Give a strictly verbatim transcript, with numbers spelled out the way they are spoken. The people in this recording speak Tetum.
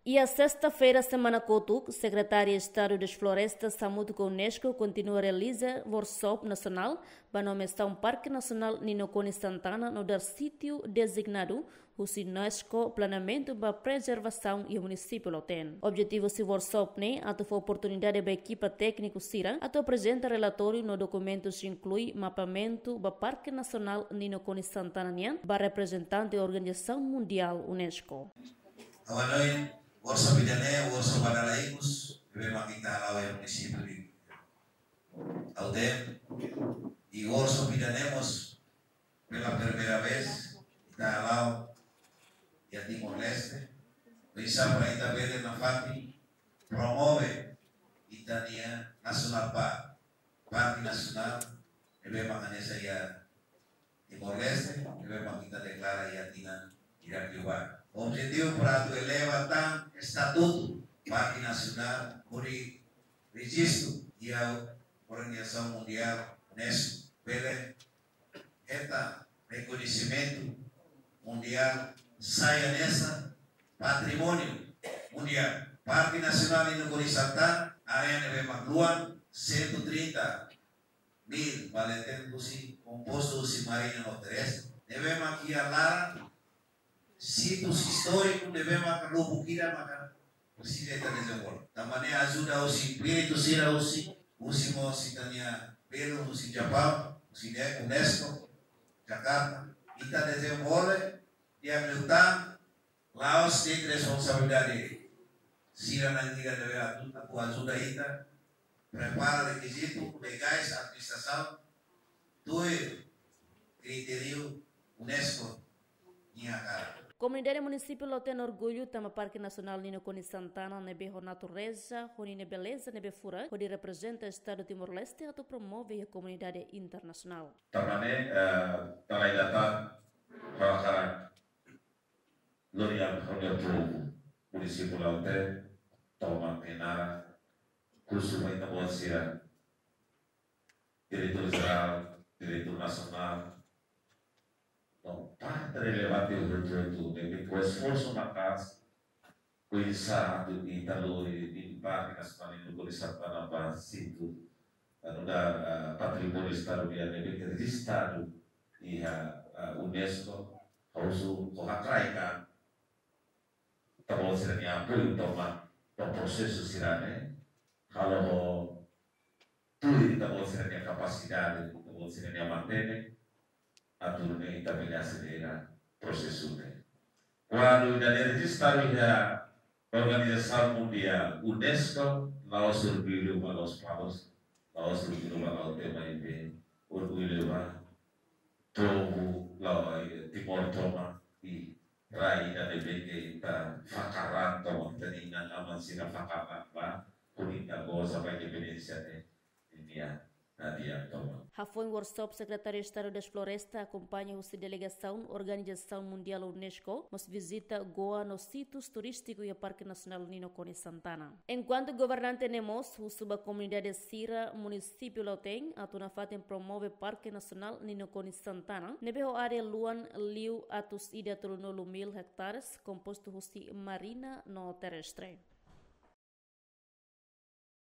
Iha sesta-feira semana kotuk, Sekretáriu Estadu das Florestas hamutuk ho UNESCO kontinua realiza workshop nasionál ba nomeasaun Parke Nasionál Nino Konis Santana nu'udar sítiu dezignadu husi UNESCO planeamentu ba prezervasaun iha munisípiu Lautém. Objetivu husi workshop ne'e atu fó oportunidade ba ekipa tékniku sira atu aprezenta relatóriu no dokumentus, inklui mapeamentu ba Parke Nasionál Nino Konis Santana nian ba reprezentante organizasaun mundiál UNESCO. Ha'u-nia workshop ida-ne'e, workshop ba dala ikus, ne'ebé mak ita hala'o iha munisípiu Lautém. I workshop ida-ne'e mós pela primeira vez ita hala'o iha Timor-Leste. Oinsá para ita bele nafatin promove ita-nia nasionál park, parke nasionál ne'ebé mak hanesan iha Timor-Leste, ne'ebé mak ita deklara iha tinan ida ke ba. Objetivu para atu eleva tan estatutu parke nasionál hodi rejistu iha organizasaun mundiál UNESCO. Bele hetan rekoñesimentu mundiál, sai hanesan patrimóniu mundiál. Parke Nasionál Nino Konis Santana, área ne'ebé mak luan cento e trinta mil, ba leten husi, kompostu husi marína no terrestre, ne'ebé mak iha laran sítius istóriku ne'ebé mak lubuk ida maka presiza ita dezenvolve. Tanba ne'e ajuda husi espíritu sira husi, husi mós ita-nia belun husi Japaun, husi ne-, UNESCO, Jakarta. Ita dezenvolve, di'ak liután, la'ós de'it responsabilidade sira na'in ida ne'ebé atu, atu ajuda ita prepara rekizitu legais, administrasaun, tuir kritériu UNESCO nian hakarak. Komunidade munisípiu Lautém orgullu tanba Parke Nasionál Nino Konis Santana ne'ebé ho natureza, ho ninia beleza ne'ebé furak, hodi reprezenta Estadu Timor-Leste atu promove iha komunidade internasionál. Tanba ne'e, eh, dala ida tan, ha'u hakarak lori ha'u-nia povu munisípiu Lautém, tomak nia naran, husu ba ita-boot sira, diretór jerál, diretór nasionál, no parte relevante hotu-hotu, ne'ebé ho esforsu maka'as, oinsá atu ita lori Parke Nasionál Nino Konis Santana ba sítiu, anu, da, ah, patrimóniu estadu nian ne'ebé rejistadu iha, ah, UNESCO, ha'u husu ho hakraik ita-boot sira-nia apoiu tomak ba prosesu sira-ne'e, halo ho tuir ita-boot sira-nia kapasidade, ita-boot sira-nia matenek, atu nune'e ita bele aselera prosesu ne'e. Kuandu ida-ne'e rejistadu iha organizasaun mundiál UNESCO, la'ós orgullu ba Lospalos, la'ós orgullu ba Lautém maibé orgullu ba povu Lautém, Timor tomak, i rai ida ne'ebé ke ita fakar an tomak, ita-nia inan-aman sira fakar an ba, hodi ita goza ba independénsia ne'e, ninia hadi'a tomak. Hafoin workshop, Sekretáriu Estadu das Florestas akompaña husi delegasaun organizasaun mundiál UNESCO, mós vizita Goa no sítius turístiku iha Parke Nasionál Nino Konis Santana. Enkuantu governante ne'e mós husu ba komunidade sira munisípiu Lautém atu nafatin promove Parke Nasionál Nino Konis Santana, ne'ebé ho área luan liu atus ida tolunulu mil hektares, kompostu husi marína no terrestre.